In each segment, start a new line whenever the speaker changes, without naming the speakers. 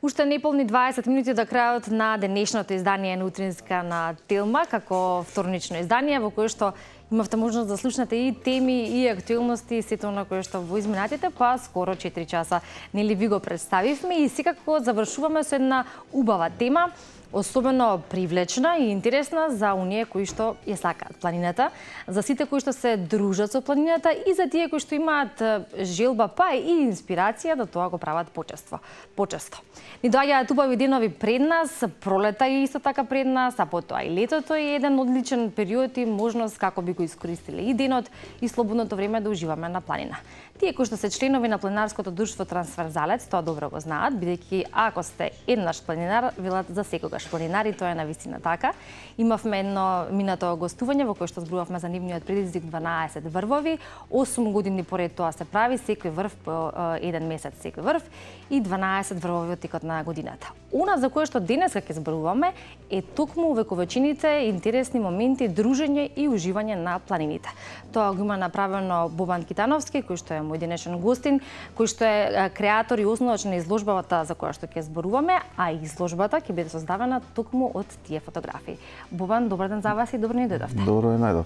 Уште неполни 20 минути до крајот на денешното издание на Утринска на Телма, како вторнично издание во кое што имавте можност да слушнете и теми и актуелности, сето на кое што во изминатите па скоро 4 часа нели ви го представивме и секако завршуваме со една убава тема, особено привлечна и интересна за оние кои што ја сакаат планината, за сите кои што се дружат со планината и за тие кои што имаат желба па и инспирација да тоа го прават почесто. Ни доаѓаат убави денови пред нас, пролета е исто така пред нас, а потоа и летото е еден одличен период и можност како би го искористиле и денот и слободното време да уживаме на планина. Тие кои што се членови на планинарското друштво Трансверзалец, тоа добро го знаат, бидејќи ако сте еднаш планинар, велат за секогаш планинар и тоа е навистина така. Имавме едно минато гостување во кое што зборувавме за нивниот предизвик 12 врвови, 8 години поред тоа се прави, секој врв по еден месец секој врв и 12 врвови во текот на годината. Она за кое што денеска ќе зборуваме е токму увековечените интересни моменти, дружење и уживање на планините. Тоа го има направено Бобан Китановски, кој што е мој денешен гостин, кој што е креатор и основач на изложбата за која што ќе зборуваме, а изложбата ќе биде создавана токму од тие фотографии. Бобан, добар ден за вас и добро ни дојдовте.
Добро е, најдов.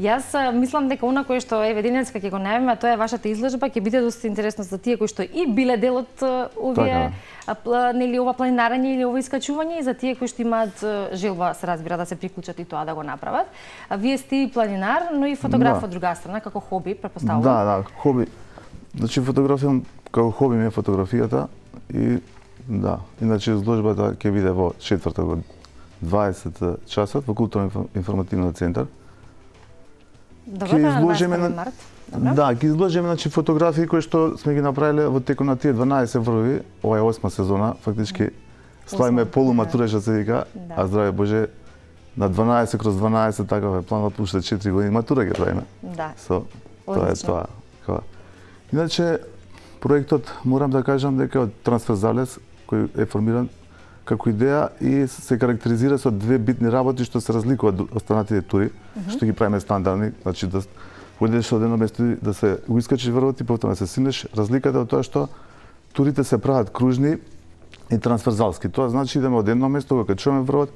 Јас мислам дека она кое што еве денеска ќе го најавиме, тоа е вашата изложба, ќе биде доста интересно за тие кои што и биле дел од овие нели ова планинарење или ова искачување и за тие кои што имаат желба, се разбира, да се приклучат и тоа да го направат. А вие сте и планинар, но и фотограф од друга страна, како хоби, претпоставувам.
Да, хоби. Значи фотографија како хоби ми е фотографијата и да, иначе изложбата ќе биде во четврток од 20 часот во културно-информативниот центар.
Добро, да, март.
Да, ќе изложиме значи фотографии кои што сме ги направиле во текот на тие 12 врвови, ова е 8 сезона, фактички славиме полуматура што се вика, а здраве Боже, на 12/12 таков е планот уште 4 години матура ќе правиме.
Да.
Тоа е тоа. Иначе проектот морам да кажам дека од Трансверзалец кој е формиран како идеја и се карактеризира со две битни работи што се разликуваат од останатите тури, што ги правиме стандардни, значи да одиш од едно место да се искачиш врвот и потоа се синеш. Разликата е од тоа што турите се прават кружни и трансверзалски. Тоа значи идеме од едно место, го качуваме врвот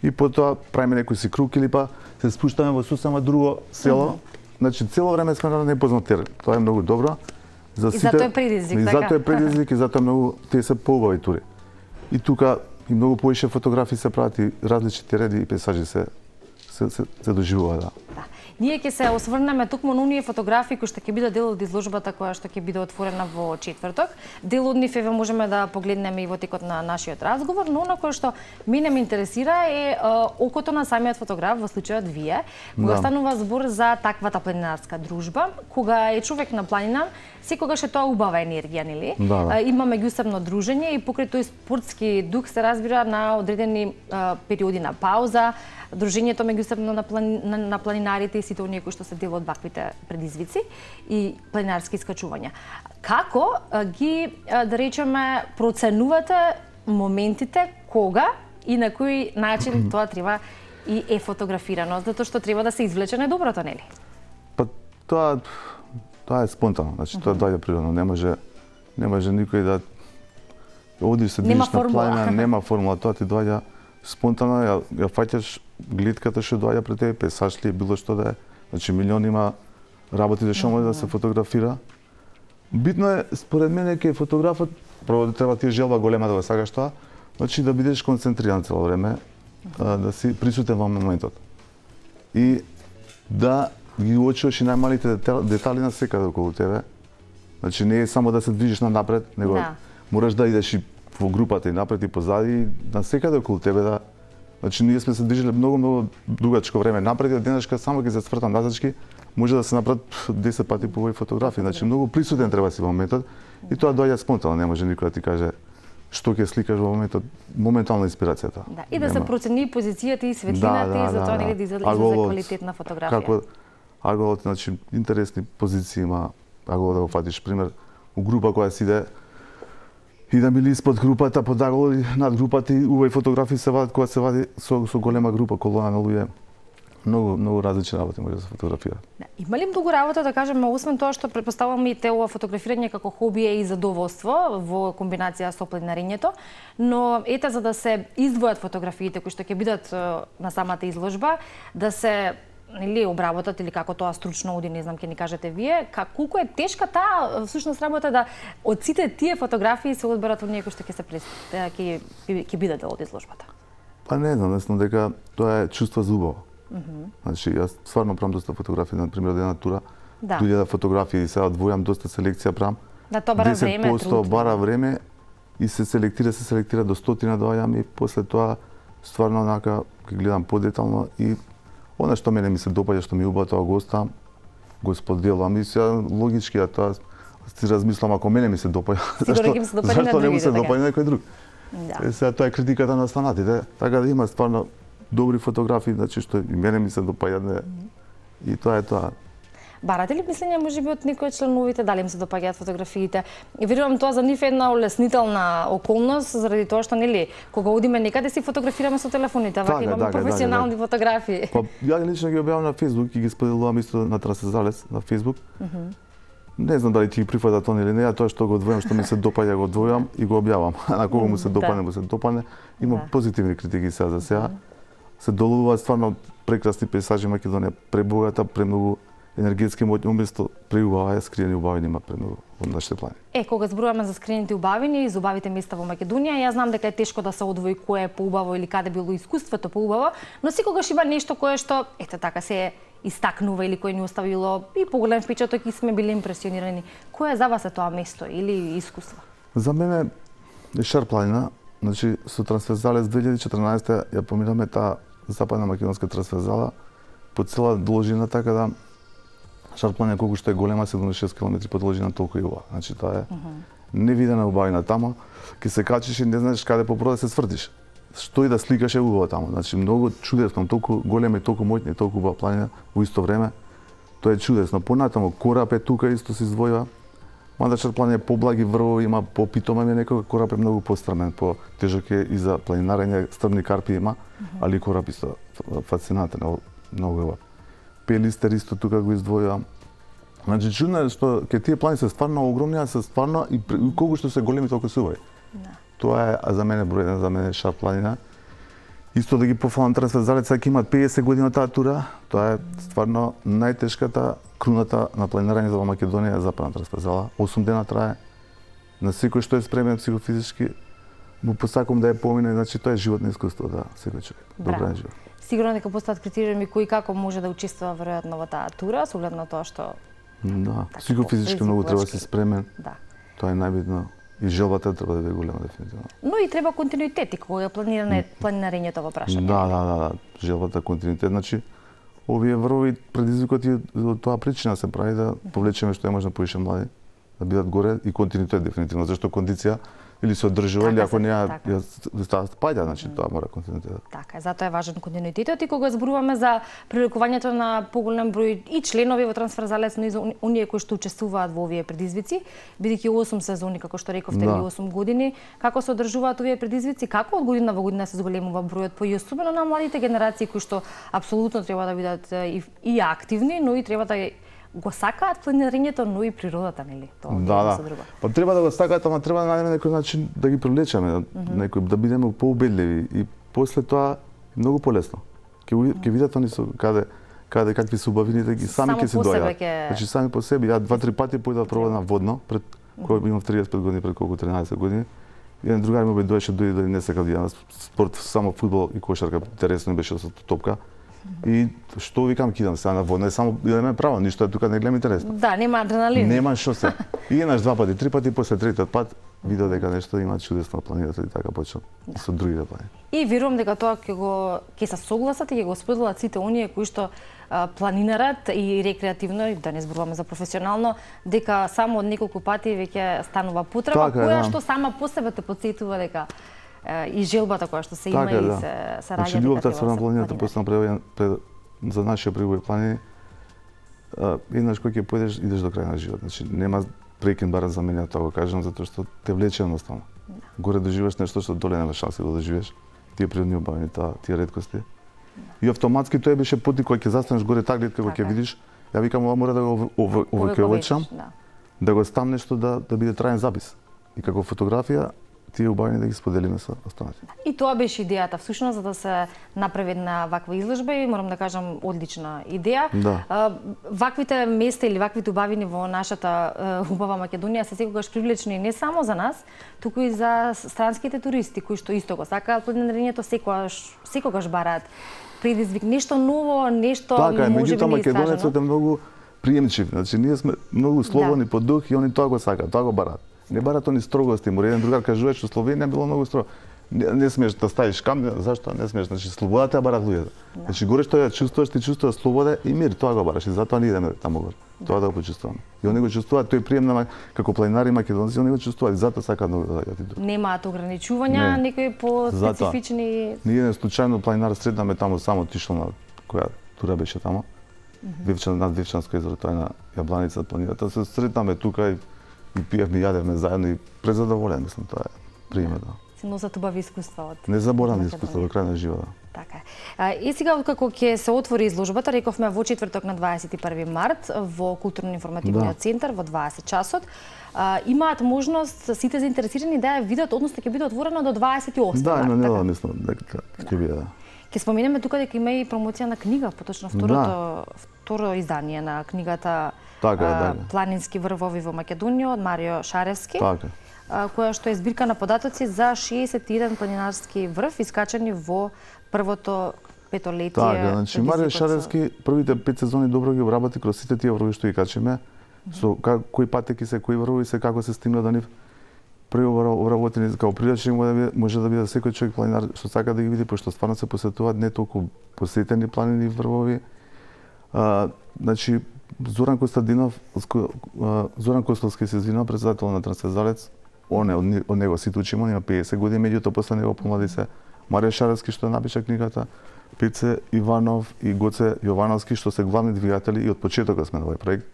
и потоа правиме некој си круг или па се спуштаме во сосема друго село. Значи цело време сме на непознат терен. Тоа е многу добро.
За сите, и затоа е предизвик, така?
И затоа е предизвик и затоа многу тие се поубави тури. И тука и многу повише фотографии се прават и различни реди и пейзажи се доживува, да.
Ние ќе се осврнеме токму на оние фотографии кои што ќе бидат дел од изложбата која што ќе биде отворена во четврток. Дел од нив можеме да погледнеме и во текот на нашиот разговор, но она кое што мене ме интересира е окото на самиот фотограф, во случајот вие, кога станува збор за таквата планинарска дружба, кога е човек на планина, секогаш е тоа убава енергија, нели? Има меѓусебно дружење и покрај тој спортски дух се разбира на одредени периоди на пауза, дружењето меѓусебно на планинарите и сите оние кои што се дел од ваквите предизвици и планинарски искачувања. Како ги, да речеме, проценувате моментите кога и на кој начин тоа треба и е фотографирано, затоа што треба да се извлече најдоброто, нели?
Па тоа е спонтано, значи тоа доаѓа природно, не може никој да одиш се движиш на планина, нема формула, тоа ти доаѓа спонтано, ја фаќаш гледката што доаѓа пред тебе, пейзаж ли, било што да е. Значи милиони има работи што може да се фотографира. Битно е според мене ке фотографот прво да треба ти желба голема да го сакаш тоа, значи да бидеш концентриран цело време, да си присутен во моментот. И да ги уочуваш и најмалите детали на секаде околу тебе. Значи не е само да се движиш напред, него мораш да идеш и во групата и напред и позади, и на секаде околу тебе да. Значи ние сме се движеле многу дугачко време напред и денешка само ќе се свртам назачки, може да се направат 10 пати по овој фотографии. Значи многу присутен треба си во моментот и тоа доаѓа спонтано, не може никој да ти каже што ќе сликаш во моментот, моментална инспирацијата.
Да, и да се процени позицијата и светлината и затоа нели да излезе квалитетна фотографија.
Како аголот, значи интересни позиции има, аголот да го фатиш пример у група која си иде и да мили испод групата, под аголот и над групата и убави фотографии се вадат кога се вади со голема група, колона на луѓе. многу различни работи може да се фотографира.
Има ли многу работа, да кажеме, освен тоа што претпоставувам и ова фотографирање како хоби е и задоволство во комбинација со планинарењето, но ете за да се издвојат фотографиите кои што ќе бидат на самата изложба, да се или обработат или како тоа стручно оди, не знам, ќе ни кажете вие, колку е тешка таа всушност работа да од сите тие фотографии се одберат оние кои што ќе бидат дел од изложбата?
Па не знам, мислам дека тоа е чувство за убаво. Значи, јас стварно правам доста фотографии, на пример, од една тура, 2000 фотографии, сега одвојам доста селекција правам.
Да, тоа бара време,
10% бара време и се селектира до 100 доаѓам и после тоа стварно онака ќе гледам подетално и она што мене ми се допаѓа, што ми убаво, тоа го оставам, го споделувам и сега логички тоа си размислам, ако мене ми се допаѓа, зашто не му се допаѓа некој друг? Сега тоа е критиката на останатите, така да има стварно добри фотографии, значи што и мене ми се допаѓаат и тоа е тоа.
Барате ли мислење можеби од некои членовите дали им се допаѓаат фотографиите? И верувам тоа за нив е една улеснителна околност заради тоа што нели кога одиме некаде си фотографираме со телефоните, вака имаме професионални фотографии.
Па ја лично ги објавам на Facebook и ги споделувам исто на Трансферзалес на Facebook. Не знам дали ти ги прифатат они или не, тоа што го одвојам, што ми се допаѓа го одвојам и го објавам. На кого му се допадне, му се допадне. Има позитивни критики сега за сега. Се долувуваат стварно прекрасни пейзажи Македонија, пребогата, премногу енергетски моќни, уместо преубава е скриени убавини има премногу од нашите планини.
Кога зборуваме за скриените убавини и за убавите места во Македонија, јас знам дека е тешко да се одвои кое е поубаво или каде било искуството поубаво, но секогаш има нешто кое што ете така се истакнува или кое ни оставило и поголем впечаток и сме били импресионирани. Кое за вас е тоа место или искуство?
За мене е Шар планина, значи со Трансферзалес 2014 ја поминаме таа западна македонска трансферзала по цела должина, така да Шар планина колку што е голема, 76 км по должина, толку и убава. Значи тоа е невидена убавина тама, ќе се качиш и не знаеш каде попрода се свртиш. Што и да сликаш е убаво таму. Значи многу чудесно, толку голема и толку моќна и толку убава планина во исто време. Тоа е чудесно. Понатаму Корап е тука исто се издвојува. Мада Шар планина е поблаги врвови, има попитома ми некој, Корап е многу пострмен, по тежок е и за планинарење, стрмни карпи има, али Корап исто фасцинантен, многу убав. Пелистер исто тука го издвојувам. Значи чудно е што ке тие планини се стварно огромни, а се стварно и колку што се големи толку се убави. Тоа е за мене број 1, за мене Шар планина. Исто да ги пофалам Трансферзалес, сега имаат 50 години од таа тура. Тоа е стварно најтешката круната на планинарењето во Македонија, западна Трансферзала. 8 дена трае. На секој што е спремен психофизички, му посакувам да ја помине, значи тоа е животно искуство, да, секој човек. Добра живот.
Сигурно дека постојат критериуми кои како може да учествува веројатно во таа тура, со оглед на тоа што
да, психофизички многу треба да си спремен.
Да.
Тоа е најбитно. И желбата треба да биде голема дефинитивно.
Но и треба континуитет и кога е планирањето во прашање.
Да. Желбата континуитет, значи овие врвови предизвикот и од тоа причина се прави да повлечеме што е можно повише млади, да бидат горе и континуитет дефинитивно, зашто кондиција или се одржува или ако не ја спаѓа, значи тоа мора континуитет.
Така е, затоа е важен континуитетот и кога зборуваме за привлекувањето на поголем број и членови во Трансферзалес, но и за оние кои што учествуваат во овие предизвици, бидејќи 8 сезони, како што рековте, или 8 години, како се одржуваат овие предизвици, како од година во година се зголемува бројот, по и особено на младите генерации кои што апсолутно треба да бидат и активни, но и треба да го сакаат планинарењето, но и природата, нели? Тоа
да. Па треба да го сакаат, ама треба да најдеме некој начин да ги привлечеме, некој да бидеме поубедливи и после тоа многу полесно. Ќе видат они со каде какви се убавините, и сами ќе се доаѓаат. Значи сами по себе, ја 2-3 пати појдов пробав на водно, пред кога имав 35 години, пред колку 13 години. Еден другар ми дојде да не сакав да јадам спорт, само фудбал и кошарка, интересно беше со топка. И што викам, кидам сега на водна, само идеме право, ништо тука не гледам интересно.
Да, нема адреналин.
Нема што се. И еднаш, 2 пати, 3 пати, после третиот пат видов дека нешто има чудесно планината и така почнав со другите планини.
И верувам дека тоа ќе се согласат и ќе го споделат сите оние кои што планинарат и рекреативно, и да не зборуваме за професионално, дека само од неколку пати веќе станува потреба, која што сама по себе те потсетува дека и желбата која што се има и се раѓа.
Значи љубовта спрема планината постојано за нашите прибои планини. Еднаш кога ќе појдеш, идеш до крај на живот. Значи нема прекин, барем за мене тоа го кажам, затоа што те влече едноставно. Горе доживеш нешто што доле нема шанси да доживеш. Тие природни убавини, тие реткости. И автоматски тој беше поти кој ќе застанеш горе таглед кога ќе видиш, ја викам ова мора да го овојковечам, да го ставам нешто да биде траен запис. И како фотографија тие убавени да ги споделиме со останатите.
И тоа беше идејата, всушност, за да се направи една ваква изложба и морам да кажам одлична идеја.
Да.
Ваквите места или ваквите убавини во нашата убава Македонија се секогаш привлечни не само за нас, туку и за странските туристи кои што исто го сакаат планинарењето, секогаш бараат предизвик, нешто ново, нешто
така,
можеби
неиstražено. Така, македонецот е многу приемчив. Значи ние сме многу слободни по дух и они тоа го сакаат, тоа го бараат. Не барат они строгости, му еден другар кажува што Словенија било многу строго. Не смееш да ставиш камера, зашто не смееш? Значи слободата ја барат луѓето. Значи горе што ја чувствуваш, ти чувствуваш слобода и мир, тоа го бараш и затоа ние идеме таму горе. Тоа да го почувствуваме. И они го чувствуваат, тој прием на како планинари македонци, они го чувствуваат и затоа сакаат многу да доаѓаат.
Немаат ограничувања, некои по специфични.
Ние не случајно планинар сретнаме таму само отишол на која тура беше таму. Над Вивчанско езеро, тоа е на Јабланица планината. Се сретнаме тука и пиевме, јадевме заедно и презадоволен, мислам, тоа е примерно.
Се носат убави искуства од
незаборавни искуства во крај на животот.
Така е. И сега откако ќе се отвори изложбата, рековме во четврток на 21 март во културно-информативниот центар во 20 часот, имаат можност сите заинтересирани да ја видат, односно ќе биде отворено до 28
Да,
март.
има недела, мислам, дека ќе биде.
Ќе споменеме тука дека има и промоција на книга, поточно второ издание на книгата Планински врвови во Македонија од Марио Шаревски.
Така.
Која што е збирка на податоци за 61 планинарски врв искачани во првото петолетие.
Така, значи Марио Шаревски првите 5 сезони добро ги обработи кроз сите тие врвови што ги качиме, со кои патеки се, кои врвови се, како се стигна до нив. Преобработени како прилични може да биде секој човек планинар што сака да ги види, пошто стварно се посетуваат не толку посетени планини врвови. Значи Зоран Костовски се извинува, председател на Трансферзалец. Од него сите учимо, има 50 години, меѓуто после него помлади се Марио Шаревски што напиша книгата, Пице Иванов и Гоце Јовановски што се главни двигатели и од почетокот сме на овој проект.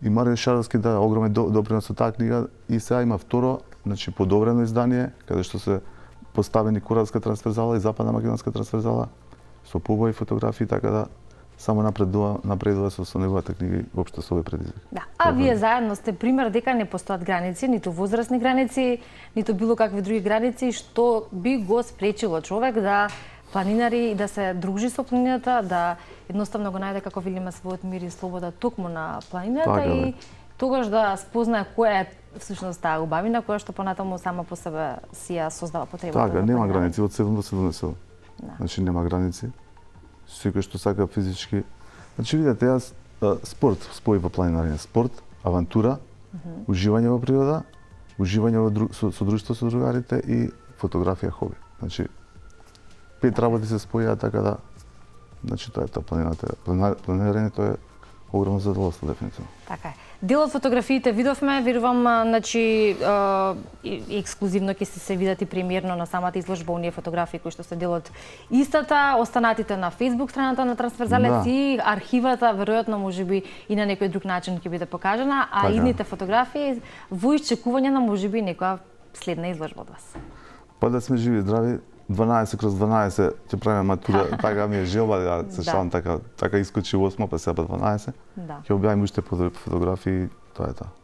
И Марио Шаревски да огромен допринос со таа книга и сега има второ, значи подобрено издание, каде што се поставени Куравска трансферзала и Западна македонска трансферзала со побои фотографии, така да само напредува со неговата книга и воопшто со овој предизвик.
Да. А вие заедно сте пример дека не постојат граници, ниту возрастни граници, ниту било какви други граници што би го спречило човек да планинари и да се дружи со планината, да едноставно го најде како велиме својот мир и слобода токму на планината и тогаш да спознае која е всушност таа убавина која што понатаму сама по себе си ја создава потребата.
Така, нема граници од 7 до 70. Значи нема граници. Секој што сака физички. Значи видите, јас спорт спои во планинарење, спорт, авантура, уживање во природа, уживање со друштво со другарите и фотографија хоби. Значи 5 работи се спојаа така да значи тоа е тоа планирањето е огромно задоволство дефинитивно.
Така е. Дел од фотографиите видовме, верувам, значи ексклузивно ќе се видат и премиерно на самата изложба оние фотографии кои што се дел од истата, останатите на Facebook страната на Трансферзалец и архивата веројатно можеби и на некој друг начин ќе биде покажана, а идните фотографии во исчекување на можеби некоја следна изложба од вас.
Па да сме живи и здрави, 12/12 ќе правиме матура, така ми е желба да се шалам така искочи 8, па сега 12. Ќе објавим уште фотографии, тоа е тоа.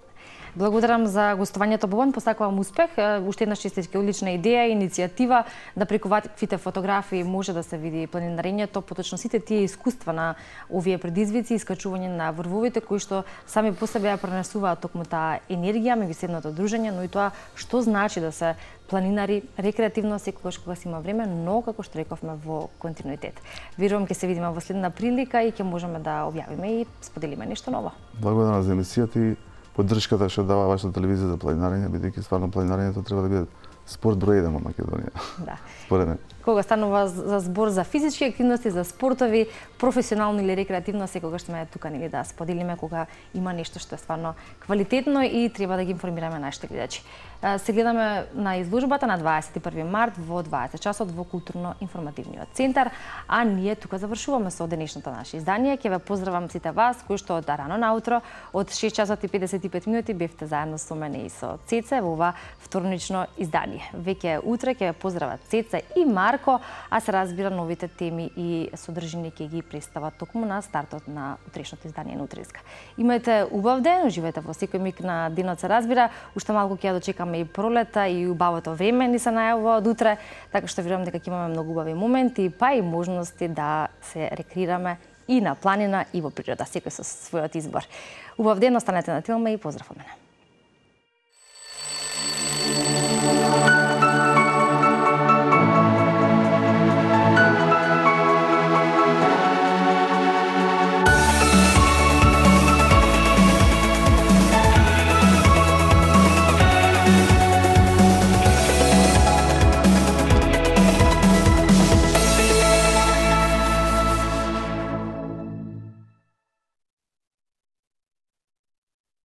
Благодарам за гостувањето, Бобан, посакувам успех. Уште еднаш честитки, одлична идеја, иницијатива да преку ваквите фотографии може да се види планинарењето, поточно сите тие искуства на овие предизвици, искачување на врвовите кои што сами по себе ја пренесуваат токму таа енергија меѓусебното дружење, но и тоа што значи да се планинари рекреативно секогаш кога си има време, но како што рековме во континуитет. Верувам ќе се видиме во следна прилика и ќе можеме да објавиме и споделиме нешто ново.
Благодарам за емисијата и поддршката што дава вашата телевизија за планинарење, бидејќи стварно планинарењето треба да биде спорт број 1 во Македонија.
Да.
Според мене.
Кога станува за збор за физички активности, за спортови, професионално или рекреативно, секогаш сме тука нели да споделиме кога има нешто што е стварно квалитетно и треба да ги информираме нашите гледачи. Се гледаме на изложбата на 21 март во 20 часот во културно-информативниот центар, а ние тука завршуваме со денешното наше издание. Ќе ве поздравам сите вас кои што од рано наутро од 6 часот и 55 минути бевте заедно со мене и со Цеце во ова вторнично издание. издание. Веќе утре ќе поздрават Цеца и Марко, а се разбира новите теми и содржини ќе ги представат токму на стартот на утрешното издание на Утринска. Имајте убав ден, уживајте во секој миг на денот се разбира. Уште малку ќе ја дочекаме и пролета и убавото време ни се најавува од утре, така што верувам дека ќе имаме многу убави моменти, па и можности да се рекреираме и на планина и во природа, секој со својот избор. Убав ден, останете на Телма и поздрав од мене.